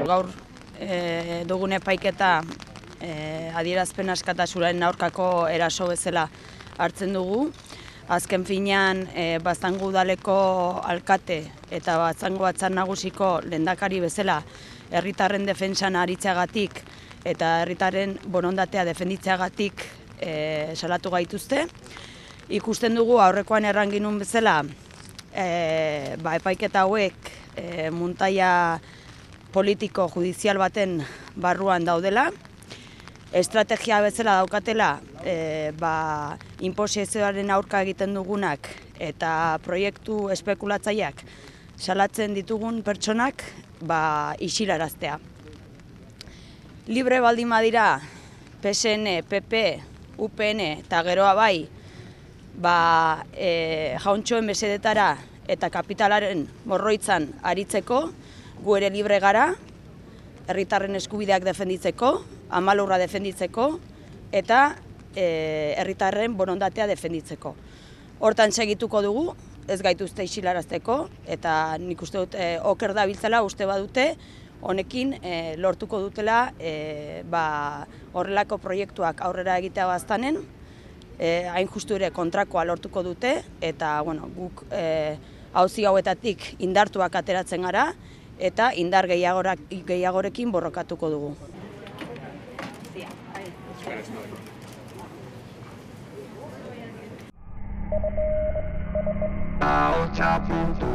gaur dugun epaiketa adierazpen askatasunaren aurkako eraso bezala hartzen dugu. Azken finean, Baztango udaleko alkate eta Baztango batzar nagusiko lehendakari bezala herritarren defentsan aritzeagatik eta herritarren borondatea defenditzeagatik salatu gaituzte. Ikusten dugu aurrekoan erran ginuen bezala epaiketa hauek muntaia politiko judizial baten barruan daudela. Estrategia bezala daukatela inposizioaren aurka egiten dugunak eta proiektu espekulatzaileak salatzen ditugun pertsonak isilaraztea. Libre baldin badira PSN, PP, UPN eta geroa jauntxoen mesedetara eta kapitalaren morroitzan aritzeko, gu ere libre gara, herritarren eskubideak defenditzeko, amalurra defenditzeko eta herritarren borondatea defenditzeko. Hortan segituko dugu, ez gaituzte isilarazteko, eta nik uste dut oker dabiltzela uste badute, honekin lortuko dutela horrelako proiektuak aurrera egitea Baztanen, hain justu ere kontrakoa lortuko dute, eta guk auzi hauetatik indartuak ateratzen gara, eta indar gehiagorekin borrokatuko dugu. Ahotsa.info